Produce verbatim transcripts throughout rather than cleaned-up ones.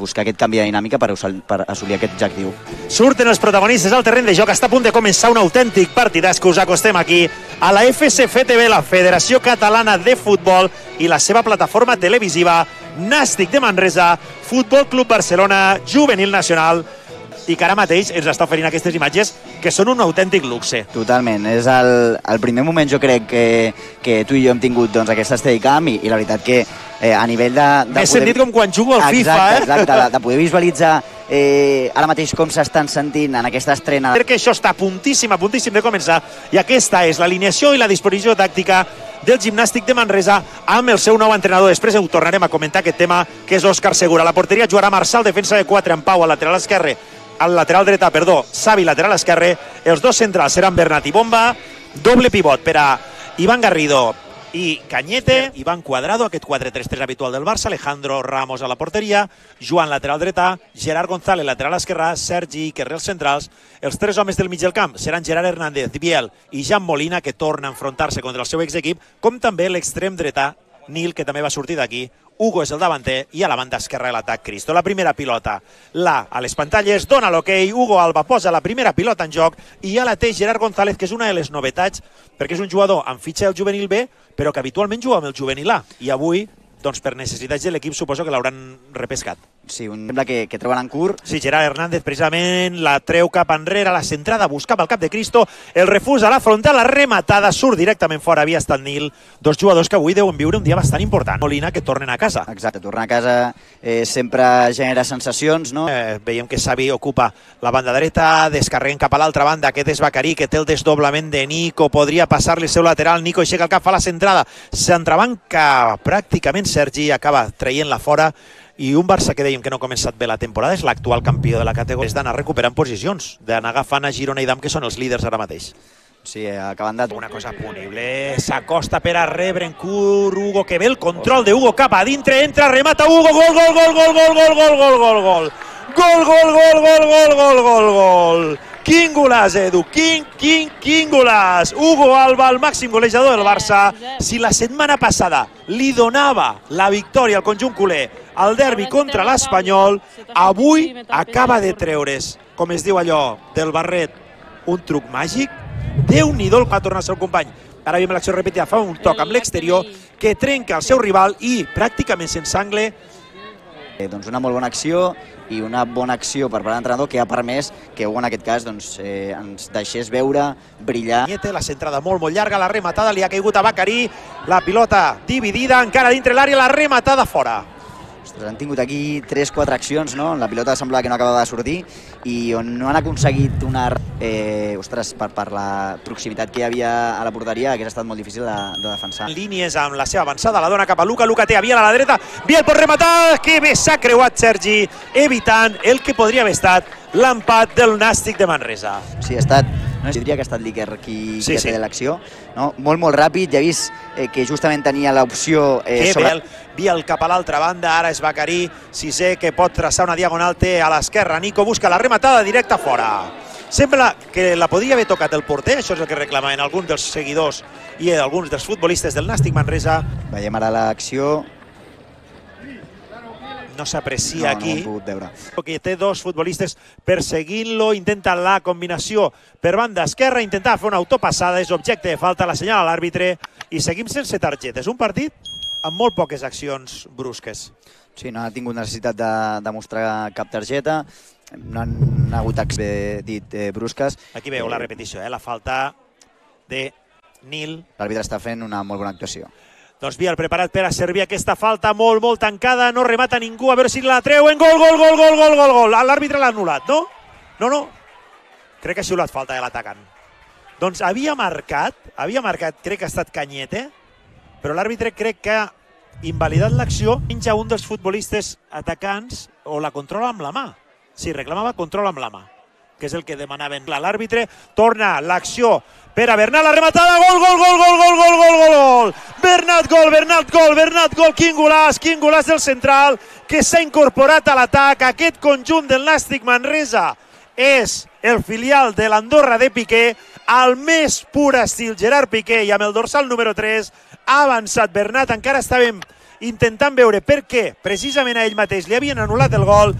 buscar aquest canvi de dinàmica per assolir aquest objectiu. Surten els protagonistes al terreny de joc, està a punt de començar un autèntic partidàs que us acostem aquí a la F C F T V, la Federació Catalana de Futbol, i la seva plataforma televisiva Nàstic de Manresa, Futbol Club Barcelona, Juvenil Nacional, i que ara mateix ens està oferint aquestes imatges que són un autèntic luxe. Totalment, és el, el primer moment jo crec que, que tu i jo hem tingut doncs, aquesta Steadicam i, i la veritat que eh, a nivell de... de M'he sentit com quan jugo al FIFA, exacte, eh? Exacte, de, de poder visualitzar eh, ara mateix com s'estan sentint en aquesta estrena. Perquè això està a puntíssim, a puntíssim de començar, i aquesta és l'alineació i la disposició tàctica del Gimnàstic de Manresa amb el seu nou entrenador. Després ho tornarem a comentar, aquest tema, que és Òscar Segura. La porteria jugarà Marçal, defensa de quatre, en Pau al lateral esquerre, al lateral dreta, perdó, Xavi lateral esquerre, els dos centrals seran Bernat i Bomba, doble pivot per a Iván Garrido i Cañete, Iván Cuadrado, aquest quatre tres tres habitual del Barça, Alejandro Ramos a la porteria, Joan lateral dreta, Gerard González lateral esquerra, Sergi Ikerre els centrals. Els tres homes del mig del camp seran Gerard Hernández, Biel i Jan Molina, que torna a enfrontar-se contra el seu exequip, com també l'extrem dreta, Nil, que també va sortir d'aquí. Hugo és el davanter i a la banda esquerra de l'atac Cristo. La primera pilota, la a les pantalles, dona l'hoquei, Hugo Alba posa la primera pilota en joc i ja la té Gerard González, que és una de les novetats, perquè és un jugador amb fitxa del juvenil B, però que habitualment juga amb el juvenil A, i avui, doncs per necessitats de l'equip, suposo que l'hauran repescat. Sí, un sembla que, que troben en curt. Sí, Gerard Hernández precisament la treu cap enrere, la centrada buscava el cap de Cristo, el refús a la frontal, la rematada, surt directament fora, havia estat Nil, dos jugadors que avui deuen viure un dia bastant important. Molina, que tornen a casa. Exacte, tornar a casa eh, sempre genera sensacions, no? Eh, veiem que Xavi ocupa la banda dreta, descarreguen cap a l'altra banda, aquest és Bacarí, que té el desdoblament de Nico, podria passar-li el seu lateral, Nico aixeca el cap, fa la centrada, s'entrebanca pràcticament Sergi, acaba traient-la fora, i un Barça que dèiem que no ha començat bé la temporada, és l'actual campió de la categoria, és d'anar recuperant posicions, d'anar agafant a Girona i Dam, que són els líders ara mateix. Sí, acabant de... Una cosa punible, s'acosta per a rebre en curt Hugo, que ve el control de Hugo cap a dintre, entra, remata Hugo, gol, gol, gol, gol, gol, gol, gol, gol, gol, gol, gol, gol, gol, gol, gol, gol, gol, gol. Quin golaç, Edu, quin, quin, quin golaç. Hugo Alba, el màxim golejador del Barça. Si la setmana passada li donava la victòria al conjunt culer al derbi contra l'Espanyol, avui acaba de treure's, com es diu allò, del barret, un truc màgic. Déu-n'hi-do el que va tornar el seu company. Ara veiem l'acció repetida, fa un toc amb l'exterior que trenca el seu rival i pràcticament sense angle. Eh, doncs una molt bona acció i una bona acció per part de l'entrenador que ha permès que Hugo en aquest cas doncs, eh, ens deixés veure, brillar. La centrada molt, molt llarga, la rematada li ha caigut a Bacarí, la pilota dividida, encara dintre l'àrea, la rematada fora. Ostres, han tingut aquí tres quatre accions, no? La pilota semblava que no acabava de sortir i on no han aconseguit una... Eh, ostres, per, per la proximitat que hi havia a la porteria hagués estat molt difícil de, de defensar. Línies amb la seva avançada, la dona cap a Luca, Luca té a Biel a la dreta, Biel pot rematar, que bé s'ha creuat Sergi, evitant el que podria haver estat l'empat del Nàstic de Manresa. Sí, ha estat, no diria que ha estat l'Iker qui, sí, qui ha sí. fet l'acció, no? Molt, molt ràpid, ja he vist eh, que justament tenia l'opció... Eh, que sobre... Biel, Biel cap a l'altra banda, ara és Bacarí, Sisé que pot traçar una diagonal, té a l'esquerra, Nico busca la rematada directa fora. Sembla que la podia haver tocat el porter, això és el que reclamaven alguns dels seguidors i alguns dels futbolistes del Nàstic Manresa. Veiem ara l'acció. No s'aprecia no, aquí. No ho hem pogut veure. Que té dos futbolistes perseguint-lo, intenta la combinació per banda esquerra, intentar fer una autopassada, és objecte de falta, la senyala l'àrbitre i seguim sense targetes. Un partit amb molt poques accions brusques. Sí, no ha tingut necessitat de, de mostrar cap targeta, no han hagut accions dit eh, brusques. Aquí veu la repetició, eh? La falta de Nil. L'àrbitre està fent una molt bona actuació. Doncs Biel preparat per a servir aquesta falta molt, molt tancada, no remata ningú, a veure si la treuen, gol, gol, gol, gol, gol, gol, gol. L'àrbitre l'ha anul·lat, no? No, no, crec que ha xiulat falta de l'atacant. Doncs havia marcat, havia marcat, crec que ha estat Cañete, però l'àrbitre crec que ha invalidat l'acció, menja un dels futbolistes atacants o la controla amb la mà. Sí, reclamava control amb la mà, que és el que demanaven. L'àrbitre torna l'acció per a Bernat, la rematada, gol, gol, gol, gol, gol, gol, gol, gol, gol, Bernat, gol, Bernat, gol, Bernat, gol, quin golaç, quin golaç del central, que s'ha incorporat a l'atac. Aquest conjunt del Nàstic Manresa és el filial de l'Andorra de Piqué, al més pur estil Gerard Piqué, i amb el dorsal número tres ha avançat Bernat, encara estàvem intentant veure per què precisament a ell mateix li havien anul·lat el gol.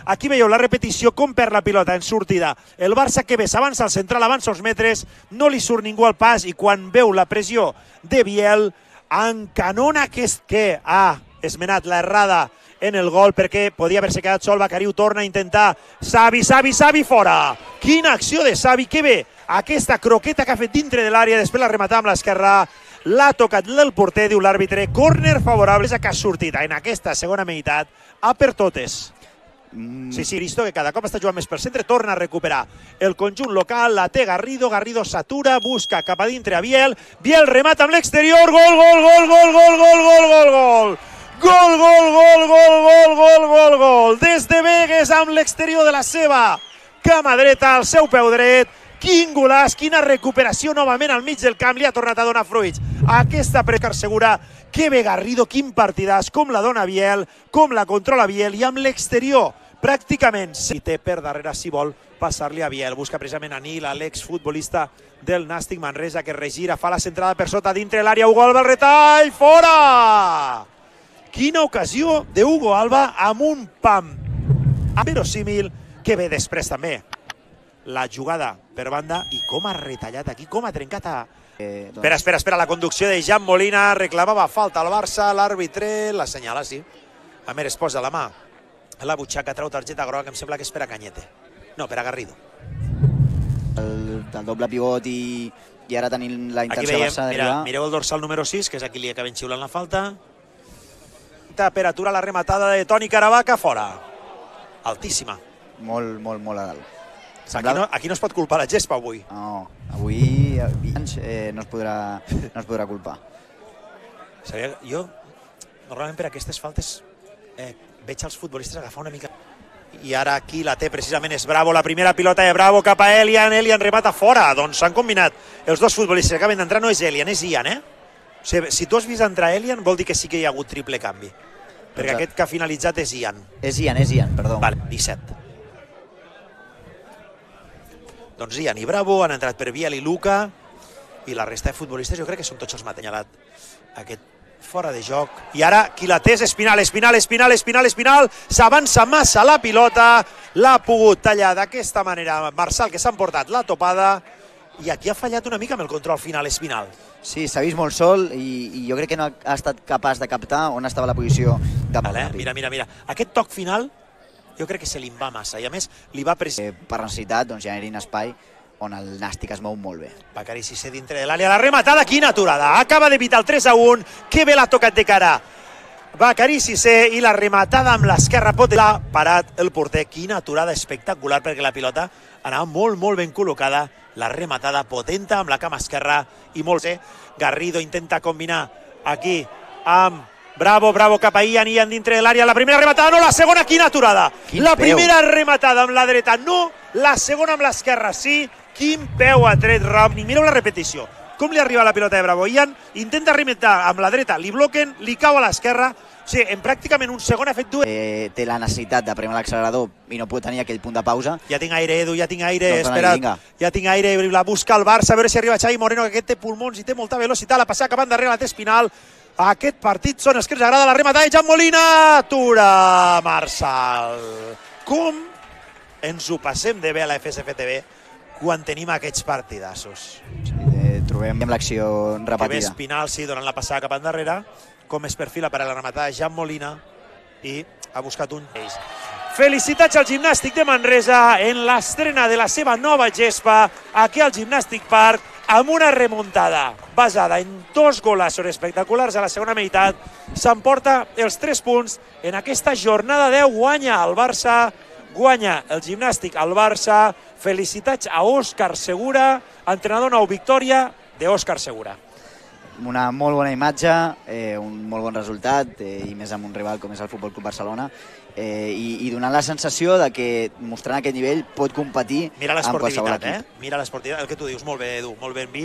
Aquí veieu la repetició, com perd la pilota en sortida. El Barça que bé s'avança al central, avança uns metres, no li surt ningú al pas i quan veu la pressió de Biel, encanona aquest que ha esmenat l'errada en el gol perquè podia haver-se quedat sol. Bacariu torna a intentar. Xavi, Xavi, Xavi, fora! Quina acció de Xavi, que bé aquesta croqueta que ha fet dintre de l'àrea, després la rematar amb l'esquerra, l'ha tocat el porter, diu l'àrbitre, córner favorable, que ha sortit en aquesta segona meitat a per totes. Sí, sí, Cristo, que cada cop està jugant més per centre, torna a recuperar el conjunt local, la té Garrido, Garrido s'atura, busca cap a dintre a Biel, Biel remata amb l'exterior, gol, gol, gol, gol, gol, gol, gol, gol, gol, gol, gol, gol, gol, gol, gol, gol, gol, des de Begues amb l'exterior de la seva cama dreta, al seu peu dret. Quin golaç, quina recuperació novament al mig del camp, li ha tornat a donar fruits. Aquesta Prescar Segura, que bé Garrido, quin partidàs, com la dona Biel, com la controla Biel, i amb l'exterior pràcticament si té per darrere si vol passar-li a Biel. Busca precisament a Nil, l'exfutbolista del Nàstic Manresa, que regira, fa la centrada per sota dintre l'àrea. Hugo Alba, el retall, fora! Quina ocasió d'Hugo Alba amb un pam verosímil, que bé després també la jugada per banda i com ha retallat aquí, com ha trencat a... Eh, doncs... Espera, espera, espera, la conducció de Jan Molina, reclamava falta al Barça, l'àrbitre l'assenyala, sí. A més, es posa la mà a la butxaca, treu targeta groga, que em sembla que és per a Cañete. No, per a Garrido. El, el doble pivot i, i ara tenint la intenció veiem, Barça mira, mireu el dorsal número sis, que és aquí li acaben xiulant la falta. Temperatura, la rematada de Toni Caravaca, fora. Altíssima. Molt, molt, molt a dalt. Aquí no, aquí no es pot culpar la gespa avui. No, avui eh, no, es podrà, no es podrà culpar. Sabia, jo, normalment per aquestes faltes, eh, veig els futbolistes agafar una mica... I ara aquí la té precisament és Bravo, la primera pilota de Bravo cap a Elian, Elian remata fora. Doncs s'han combinat els dos futbolistes que acaben d'entrar, no és Elian, és Ian, eh? O sigui, si tu has vist entrar Elian, vol dir que sí que hi ha hagut triple canvi. Perquè Exacte. Aquest que ha finalitzat és Ian. És Ian, és Ian, perdó. Vale, disset. Doncs Ian i Bravo han entrat per Biel i Luca i la resta de futbolistes jo crec que són tots els matenyalat aquest fora de joc. I ara qui la té és Espinal, Espinal, Espinal, Espinal, Espinal, s'avança massa la pilota, l'ha pogut tallar d'aquesta manera Marçal, que s'ha emportat la topada, i aquí ha fallat una mica amb el control final Espinal. Sí, s'ha vist molt sol i, i jo crec que no ha estat capaç de captar on estava la posició de vale, mira, mira, mira, aquest toc final jo crec que se li va massa i a més li va precisar. Eh, per necessitat doncs, generin espai on el Nàstic es mou molt bé. Bacari Cissé dintre de l'àrea, la rematada, quina aturada, acaba d'evitar el tres a un, que bé l'ha tocat de cara Bacari Cissé i la rematada amb l'esquerra pot l'ha parat el porter, quina aturada espectacular perquè la pilota anava molt molt ben col·locada, la rematada potenta amb la cama esquerra i molt bé, Garrido intenta combinar aquí amb Bravo, Bravo cap a Ian, Ian dintre de l'àrea, la primera rematada, no, la segona, quina aturada! Quin la peu. Primera rematada amb la dreta, no, la segona amb l'esquerra, sí, quin peu ha tret Ram, i mireu la repetició, com li arriba la pilota de Bravo, Ian intenta rematar amb la dreta, li bloquen, li cau a l'esquerra, o sigui, en pràcticament un segon ha fet dues... Eh, té la necessitat de premar l'accelerador i no pot tenir aquell punt de pausa. Ja tinc aire, Edu, ja tinc aire, doncs espera, ja tinc aire, la busca el Barça, a veure si arriba Xavi Moreno, que aquest té pulmons i té molta velocitat, la passa acabant darrere, la té Espinal. Aquest partit són els que ens agrada, la rematada de Jan Molina, atura Marçal. Com ens ho passem de bé a la F S F T V quan tenim aquests partidassos. Sí, eh, trobem l'acció repetida. Que ve Espinal, sí, donant la passada cap endarrere, com es perfila per a la rematada de Jan Molina i ha buscat un eix. Felicitats al Gimnàstic de Manresa en l'estrena de la seva nova gespa aquí al Gimnàstic Park, amb una remuntada basada en dos golassos espectaculars a la segona meitat, s'emporta els tres punts en aquesta jornada deu, guanya el Barça, guanya el Gimnàstic al Barça, felicitats a Òscar Segura, entrenador nou, victòria d'Òscar Segura. Una molt bona imatge, eh, un molt bon resultat, eh, i més amb un rival com és el Futbol Club Barcelona, eh, i, i donant la sensació de que mostrant aquest nivell pot competir amb qualsevol equip. Eh? Mira l'esportivitat, el que tu dius, molt bé, Edu, molt ben vist.